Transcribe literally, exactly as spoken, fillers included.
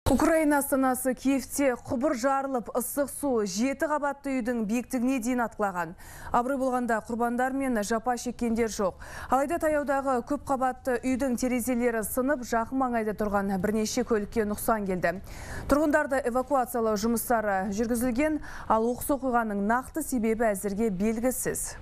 Украина астанасы Киевте құбыр жарылып, ыстық су жеті қабатты үйдің биіктігіне дейін атқылаған. Абырой болғанда құрбандар мен жапа шеккендер жоқ. Алайда таяудағы көп қабатты үйдің терезелері сынып, жақын маңайда тұрған бірнеше көлікке нұқсан келді. Тұрғындарды эвакуациялау жұмыстары жүргізілген, ал оқыс оқиғаның нақты себебі әзірге белгісіз.